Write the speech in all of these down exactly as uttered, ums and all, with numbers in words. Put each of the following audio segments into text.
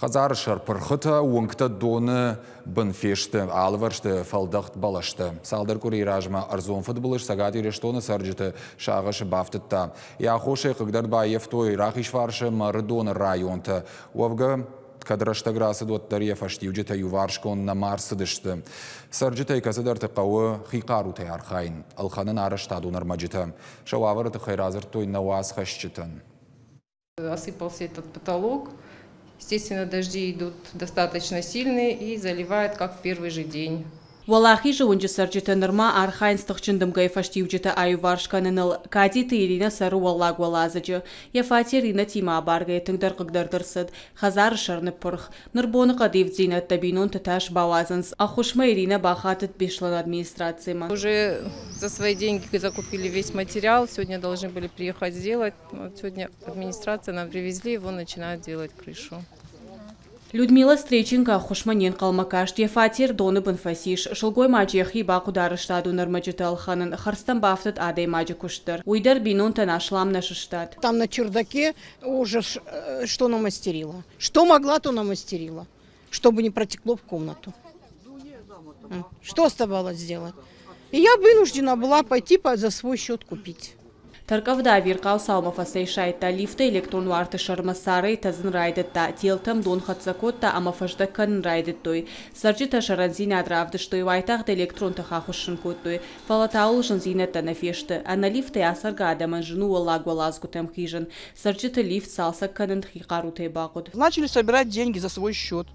Хӕдзары сӕр пырхытӕ, уынгтӕ доны бын фесты, алывӕрсты фӕлдӕхт бӕлӕстӕ. Цалдӕр къуырийы размӕ ӕрдзон фыдбылыз Цӕгат Ирыстоны цӕрджыты сагъӕсы бафтыдта. Йӕ аххосӕй хъыгдард баййӕфтой Рахизфарсы ӕмӕ Ӕрыдоны районтӕ. Уӕвгӕ, кӕд рӕстӕг рацыд, уӕддӕр йӕ фӕстиуджытӕ иуварсгонд нӕма ӕрцыдысты. Цӕрджытӕй кӕцыдӕрты хъӕуы хи хъарутӕй архайын, ӕлхӕнын арӕзтадон ӕрмӕджытӕ. Сӕ уавӕры тыххӕй радзырдтой нӕ уацхӕсджытӕн. Осыпался этот потолок. Естественно, дожди идут достаточно сильные и заливает, как в первый же день. Уӕлахизы уынджы цӕрджытӕ нырма архайынц тыхджын дымгӕйы фӕстиуджытӕ аиуварс кӕныныл. Кадиты Иринӕ цӕры уӕллаг уӕладзыджы. Йӕ фатер иннӕтимӕ абаргӕйӕ тынгдӕр хъыгдард ӕрцыд. Хӕдзары сӕр ныппырх. Ныр боныхъӕды ивддзинӕдтӕ бинонты тас бауадзынц. Ӕххуысмӕ Иринӕ бахатыд Беслӕны администрацимӕ. Уже за свои деньги закупили весь материал. Сегодня должны были приехать сделать. Вот сегодня администрация нам привезли, его начинают делать крышу. Людмила Стреченко ӕххуысмӕ не нхъӕлмӕ каст. Йӕ фатер доны бын фӕцис. Сылгоймаджы йӕхи бахъуыд арӕзтадон ӕрмӕджытӕ ӕлхӕнын. Хӕрдзтӕм бафтыд адӕймаджы куыст дӕр. Уый дӕр бинонтӕн аслам нӕ сыстад. Там на чердаке уже э, что намастерила. Что могла, то намастерила, чтобы не протекло в комнату. Что оставалось сделать? И я вынуждена была пойти за свой счет купить. Тӕрккъӕвда ӕвирхъау цаумӕ фӕцӕйсайдта. Лифты электрон уарты сӕрмӕ царӕй тӕдзын райдыдта. Телтӕм дон хӕццӕ кодта ӕмӕ фӕздӕг кӕнын райдыдтой. Цӕрджытӕ сӕрӕндзинад равдыстой, уайтагъд электрон тых ахуыссын кодтой. Фӕлӕ та ууыл зындзинӕдтӕ нӕ фесты. Ӕнӕ лифтӕй ацӕргӕ адӕмӕн зын у уӕллаг уӕладзгуытӕм хизын. Цӕрджыты лифт цалцӕг кӕнын хи хъарутӕй бахъуыд. Начали собирать деньги за свой счет.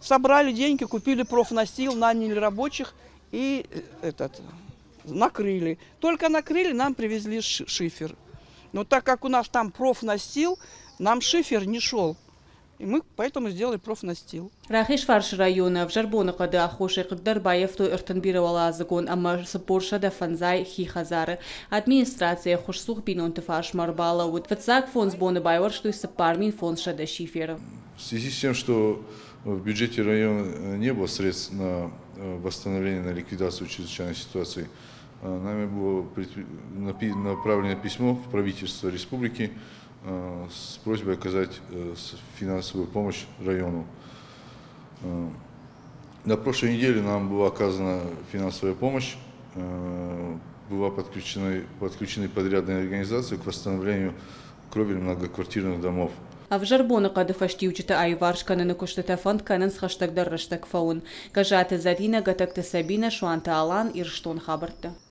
Собрали деньги, купили профнастил, наняли рабочих и э, этот, накрыли. Только накрыли, нам привезли шифер. Но так как у нас там профнастил, нам шифер не шел. И мы поэтому сделали профнастил. Рахизфарсы районы ӕвзӕр боныхъӕды аххосӕй хъыгдард баййӕфтой ӕртын бирӕуӕладзыгон ӕмӕ цыппор сӕдӕ фӕндзай хи хӕдзары. Администраци ӕххуысцух бинонты фарсмӕ ӕрбалӕууыд. Фыццаг фондз боны байуӕрстой цыппар мин фондз сӕдӕ шиферы. В связи с тем, что в бюджете района не было средств на э, восстановление, на ликвидацию чрезвычайной ситуации, э, нами было направлено письмо в правительство республики э, с просьбой оказать финансовую помощь району. На прошлой неделе нам была оказана финансовая помощь, была подключены, подключены подрядные организации к восстановлению кровель многоквартирных домов. Ӕвзӕр боныхъӕды фӕстиуджыты аиуварс кӕныны куыстытӕ фӕнд кӕнынц хӕстӕгдӕр рӕстӕг фӕуын. Гӕззаты Зӕринӕ, Гӕтӕгты Сабинӕ, Суанты Алан, Ирыстон хабӕрттӕ.